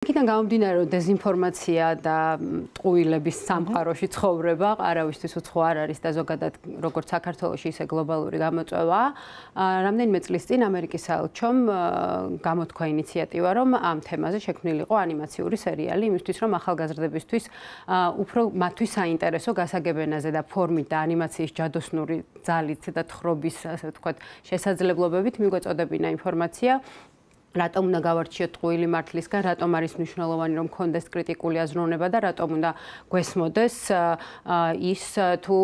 იქიდან გამომდინარე, რომ დეზინფორმაცია და ტყუილების სამყაროში ცხოვრება არავისთვის უცხო არ არის და ზოგადად როგორც საქართველოში, ისე გლობალური გამოწვევა. რამდენიმე წლის წინ ამერიკის საელჩომ გამოთქვა ინიციატივა, რომ ამ თემაზე შექმნილიყო ანიმაციური სერიალი, იმისთვის, რომ ახალგაზრდებისთვის უფრო მათთვის საინტერესო გასაგებენაზე და ფორმით და ანიმაციის ჯადოსნური ძალით და თხრობის, ასე ვთქვათ, შესაძლებლობებით მიგვეწოდებინა ინფორმაცია. რატომ უნდა გავარჩიოთ ტყუილი მართლისგან, რატომ არის მნიშვნელოვანი რომ გქონდეს კრიტიკული აზროვნება და რატომ უნდა გვესმოდეს ის თუ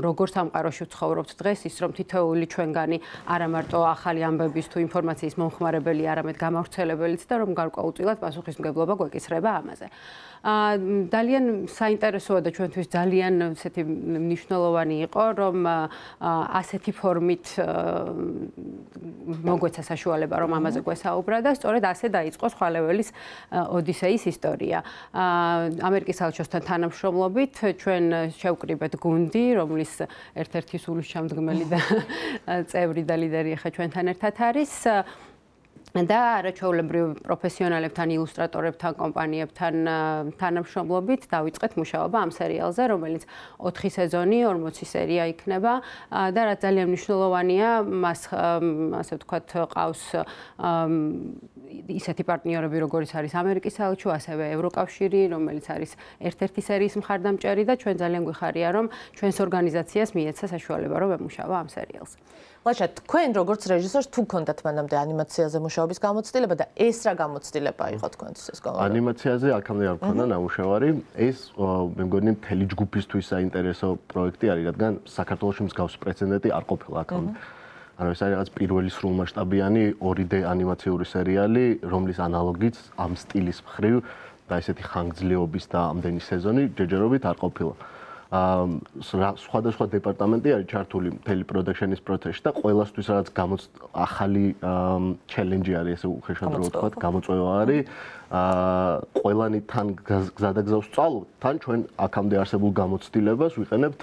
როგორ სამყაროში ვცხოვრობთ დღეს, ის რომ თითოეული ჩვენგანი არა მარტო ახალი ამბების თუ ინფორმაციის მომხმარებელი, არამედ გამავრცელებელიც და რომ გარკვეულწილად პასუხისმგებლობა გვეკისრება ამაზე. ძალიან საინტერესოა და ჩვენთვის ძალიან ესეთი მნიშვნელოვანი იყო, რომ ასეთი ფორმით მოგვეცა საშუალება, რომ ამაზე გვესაუბრა და სწორედ ასე დაიწყო ხვალეველის ოდისეის ისტორია. ამერიკის საელჩოსთან თანამშრომლობით ჩვენ შევკრიბეთ გუნდი, რომლის ერთ-ერთი სულისჩამდგმელი და წევრი და ლიდერი ახლა ჩვენთან ერთად არის. და არაჩვეულებრივ პროფესიონალებთან, ილუსტრატორებთან, კომპანიებთან თანამშრომლობით დავიწყეთ მუშაობა ამ სერიალზე, რომელიც 4 სეზონი, 40 სერია იქნება და რაც ძალიან მნიშვნელოვანია, მას ასე ვთქვათ, ყავს ისეთი პარტნიორები, როგორიც არის ამერიკის საელჩო, ასევე ევროკავშირი, რომელიც არის ერთ-ერთი სერიის მხარდამჭერი და ჩვენ ძალიან გვიხარია, რომ ჩვენს ორგანიზაციას მიეცა საშუალება, რომ ემუშავა ამ სერიალზე. ლაშა, თქვენ როგორც რეჟისორს თუ გქონდათ მანამდე ანიმაციაზე მუშაობის გამოცდილება და ეს რა გამოცდილება იყო თქვენთვის ეს გამოცდილება? ანიმაციაზე აქამდე არ მქონდა ნამუშევარი. ეს მე მგონი მთელი ჯგუფისთვის საინტერესო პროექტი არის, რადგან საქართველოში მსგავს პრეცედენტი არ ყოფილა აქამდე. ანუ ეს არის რაღაც პირველი სრულმასშტაბიანი 2D ანიმაციური სერიალი, რომლის ანალოგიც ამ სტილის მხრივ და ესეთი ხანგრძლივობის და ამდენი სეზონი ჯერჯერობით არ ყოფილა. სხვადასხვა დეპარტამენტი არის ჩართული მთელი პროდაქშენის პროცესში და ყველასთვის რაღაც ახალი ჩელენჯი არის, ესე უხეშად რო ვთქვათ, გამოწვევა არის. ყველანი თან გზადაგზავს სწავლობთ, თან ჩვენ აქამდე არსებულ გამოცდილებას ვიყენებთ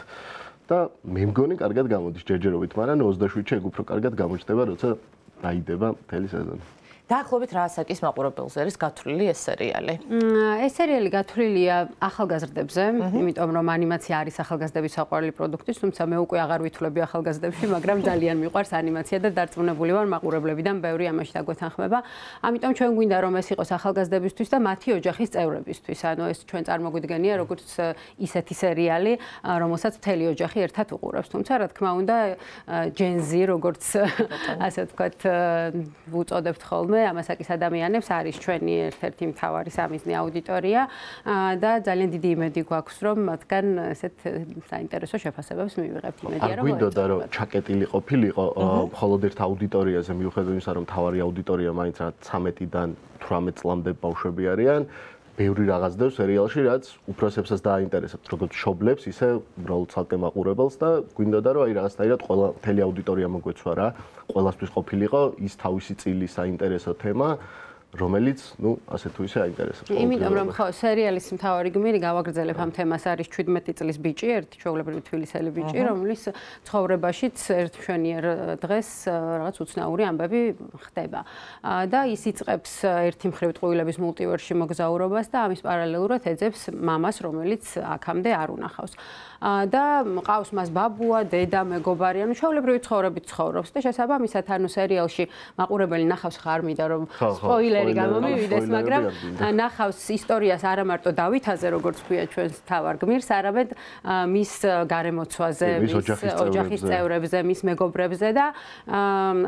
და მე მგონი კარგად გამოდის ჯერჯერობით, მაგრამ 27-ში ეგ უფრო კარგად გამოჩნდება, როცა დაიდება მთელი სეზონი. დაახლოებით რა ასაკის მაყურებელზე არის გათვლილი ეს სერიალი? ეს სერიალი გათვლილია ახალგაზრდებზე, იმიტომ რომ ანიმაცია არის ახალგაზრდების საყვარელი პროდუქტი, თუმცა მე უკვე აღარ ვითვლები ახალგაზრდებში, მაგრამ ძალიან მიყვარს ანიმაცია და დარწმუნებული ვარ მაყურებლებიდან ბევრი ამაში დაგვეთანხმება. ამიტომ ჩვენ გვინდა რომ ეს იყოს ახალგაზრდებისთვის და მათი ოჯახის წევრებისთვის. ანუ ეს ჩვენ წარმოგვიდგენია როგორც ისეთი სერიალი, რომელსაც მთელი ოჯახი ერთად უყურებს. თუმცა რა თქმა უნდა, Gen Z როგორც ასე ვთქვათ, ვუწოდებთ ხოლმე ამასაკის ადამიანებს არის ჩვენი ერთ-ერთი მთავარი სამიზნე აუდიტორია და ძალიან დიდი იმედი გვაქვს რომ მათგან ესეთ საინტერესო შეფასებებს მივიღებთ. იმედია რომ გვინდოდა რომ ჩაკეტილი ყოფილიყო მხოლოდ ერთ აუდიტორიაზე მიუხედავად იმისა რომ მთავარი აუდიტორია მაინც რა 13-დან 18 წლამდე ბავშვები არიან. ბევრი რაღაც დევს სერიალში, რაც უფროსებსაც დააინტერესებთ, როგორც მშობლებს, ისე უბრალოდ ცალკე მაყურებელს და გვინდოდა რომ აი რაღაცნაირად ყველა მთელი აუდიტორია მოგვეცვა რა, ყველასთვის ყოფილიყო ის თავისი წილის საინტერესო თემა, რომელიც, ну, ასე თუ ისე აინტერესებს. იმიტომ რომ ხო, სერიალის მთავარი გმირი გავაგრძელებ ამ თემას არის 17 წლის ბიჭი, ერთი ჩვეულებრივი თბილისელი ბიჭი, რომლის ცხოვრებაშიც ერთ მშვენიერ დღეს რაღაც უცნაური ამბები ხდება. და ის იწყებს ერთი მხრივ ტყუილების მულტივერსში მოგზაურობას და ამის პარალელურად ეძებს მამას, რომელიც აქამდე არ უნახავს. და ყავს მას ბაბუა, დედა, მეგობარი, ანუ ჩვეულებრივი ცხოვრებით ცხოვრობს და შესაბამისად ანუ სერიალში მაყურებელი ნახავს ხარმიდა რომ სპოილერი გამომივიდეს, მაგრამ ნახავს ისტორიას არა მარტო დავითაზე, როგორც ქვია ჩვენს თავარ გმირს, არამედ მის გარემოცვაზე, მის ოჯახის წევრებზე, მის მეგობრებზე და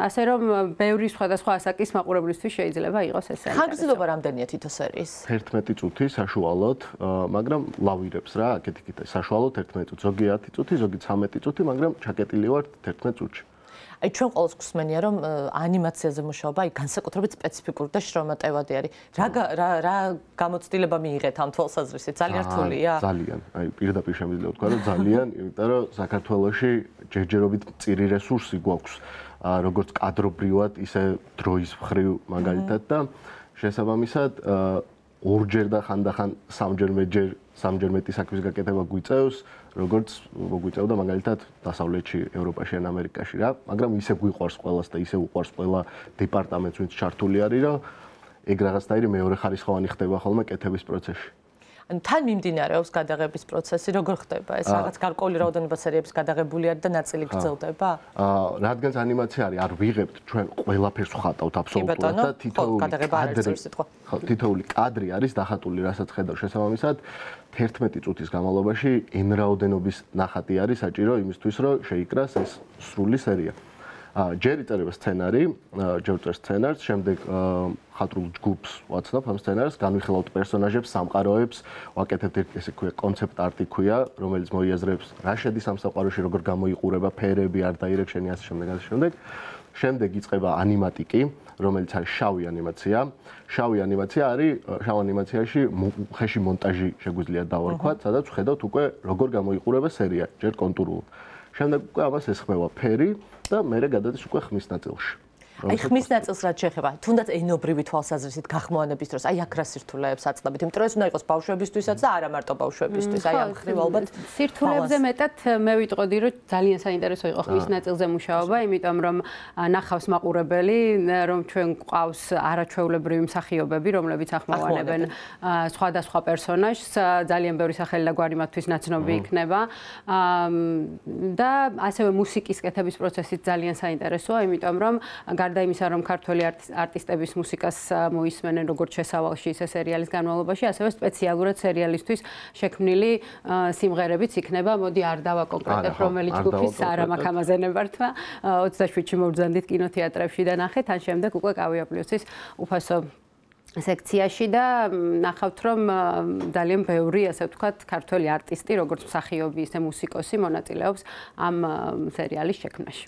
ასე რომ ბევრი სხვადასხვა ასაკის მაყურებლისთვის შეიძლება იყოს ეს სერიალი. ხანგრძლივობა რამდენია თითო სერიის? 11 წუთი საშუალოდ, მაგრამ ლავირებს რა, აქეთ-იქით საშუალოდ 11 ზოგი 10 წუთი, ზოგი 13 წუთი, მაგრამ ჩაკეტილი ვართ 11 წუთში. აი ჩვენ ყოველს გვსმენია რომ ანიმაციაზე მუშაობა აი განსაკუთრებით სპეციფიკური და შრომატევადი არის. რა გამოცდილება მიიღეთ ამ თვალსაზრისით? ძალიან რთულია? ძალიან. აი პირდაპირ შემიძლია ვთქვა რომ ძალიან, იმიტომ რომ საქართველოში ჯერჯერობით მწირი რესურსი გვაქვს, როგორც კადრობრივად, ისე დროის მხრივ მაგალითად და შესაბამისად ორჯერ და ხანდახან სამჯერ მეტი საქმის გაკეთება გვიწევს, როგორც მოგვიწევდა მაგალითად დასავლეთში, ევროპაში ან ამერიკაში რა, მაგრამ ისე გვიყვარს ყველას და ისე უყვარს ყველა დეპარტამენტს, ვინც ჩართული არის, რომ ეგ რაღაცნაირი მეორეხარისხოვანი ხდება ხოლმე კეთების პროცესში. ანუ თან მიმდინარეობს გადაღების პროცესი, როგორ ხდება ეს? რაღაც გარკვეული რაოდენობა სერიების გადაღებული არის და ნაწილი გრძელდება? რადგანაც ანიმაცია არის, არ ვიღებთ ჩვენ ყველაფერს ვხატავთ აბსოლუტურად და თითოეული კადრი არის დახატული, რასაც ხედავ შესაბამისად 11 წუთის განმავლობაში n რაოდენობის ნახატი არის საჭირო იმისთვის, რომ შეიკრას ეს სრული სერია. ჯერ იწერება სცენარი, ჯერ წერს სცენარს, შემდეგ ხატრულ ჯგუფს ვაცნობ ამ სცენარს, განვიხილავთ პერსონაჟებს, სამყაროებს, ვაკეთებთ ესე ქვია კონცეპტ არტი ქვია, რომელიც მოიაზრებს რა შედის ამ სამყაროში, როგორ გამოიყურება ფერები, art direction-ი ასე შემდეგ. შემდეგ იწყება ანიმატიკი, რომელიც არის შავი ანიმაცია. შავი ანიმაცია არის, შავ ანიმაციაში ხეში მონტაჟი შეგვიძლია დავარქვათ, სადაც ვხედავთ უკვე როგორ გამოიყურება სერია, ჯერ კონტურულად. შემდეგ უკვე ამას ესხმევა ფერი და მერე გადადის უკვე ხმის ნაწილში. აი ხმის ნაწილს რაც შეეხება, თუნდაც ენობრივი თვალსაზრისით გახმოვანების დროს, აი აქ რა სირთულეებს აწნობით, იმიტომ რომ ეს უნდა იყოს ბავშვებისთვისაც და არა მარტო ბავშვებისთვის, აი ამ ხრივ ალბათ სირთულეებზე მეტად მე ვიტყოდი, რომ ძალიან საინტერესო იყო ხმის ნაწილზე მუშაობა, იმიტომ რომ ნახავს მაყურებელი, რომ ჩვენ გვყავს არაჩვეულებრივი მსახიობები, რომლებიც ახმოვანებენ სხვადასხვა პერსონაჟს, ძალიან ბევრი სახელი და გვარი მათთვის ნაცნობი იქნება და ასევე მუსიკის კეთების პროცესიც ძალიან საინტერესოა, იმიტომ რომ გარდა იმისა, რომ ქართველი არტისტების მუსიკას მოისმენენ როგორც შესავალში, ისე სერიალის განმავლობაში, ასევე სპეციალურად სერიალისთვის შექმნილი სიმღერებიც იქნება. მოდი არ დავაკონკრეტებ, რომელი ჯგუფის არა მაქვს ამაზე ნებართვა. 27-ში მოვბრძანდით კინოთეატრებში და ნახეთ, ან შემდეგ უკვე კავია პლუსის უფასო სექციაში და ნახავთ, რომ ძალიან ბევრი, ასე ვთქვათ, ქართველი არტისტი, როგორც მსახიობი, ისე მუსიკოსი მონაწილეობს ამ სერიალის შექმნაში.